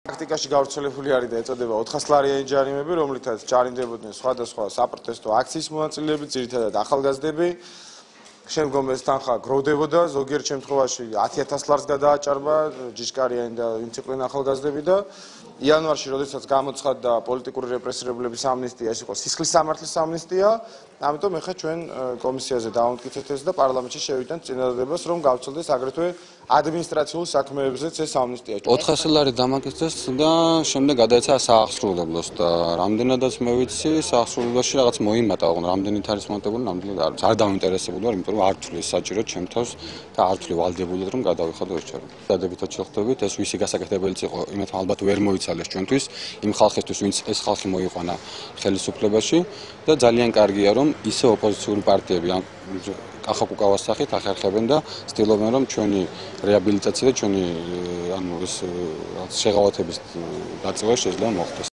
პრაქტიკაში გავრცელებული არის და ეწოდება 400 ლარიანი ჯარიმები, რომლითაც ჯარიმდებოდნენ სხვადასხვა საპროტესტო აქციის მონაწილეები, ძირითადად ახალგაზრდები. შემდგომ ეს თანხა გროვდებოდა, ზოგიერთ შემთხვევაში 10,000 ლარს გადააჭარბა ჯიშკარიანი და იმციკლენ ახალგაზრდები და იანვარში, როდესაც გამოცხადდა პოლიტიკური რეპრესირებლების ამნისტია, ეს იყო სისხლის სამართლის ამნისტია, ამიტომ ეხლა ჩვენ კომისიაზე დავამტკიცეთ ეს და პარლამენტში შევიდანთ წინადადებას, რომ გავცილდეს აგრეთვე ადმინისტრაციულ საქმეებზეც ეს ამნისტია. 400 ლარი დამაკეთეს და შემდეგ გადაეცა საახსრულებლოს და რამდენადაც მე ვიცი, საახსრულებლოში რაღაც მოიმატა, ოღონდ რამდენით არის მომატებული, ნამდვილად არ ვიცი. არ დავინტერესებული ვარ, იმიტომ რომ არ თვლი საჭირო ჩემ თავს და არ თვლი ვალდებულად რომ გადავიხადო ეს ჩარევა. დადებითად შევხვდებით, ეს ვისი გასაკეთებელიც იყო, იმათ ალბათ ვერ მოიცალეს ჩვენთვის, იმ ხალხისთვის, ვინც ეს ხალხი მოიყვანა ხელისუფლებაში და ძალიან კარგია რომ ისე ოპოზიციური პარტიები კახაკუკავას სახით ახერხებენ და ცდილობენ რომ ჩვენი რეაბილიტაცია და ჩვენი შეღავათების დაწევა შეიძლება მოხდეს.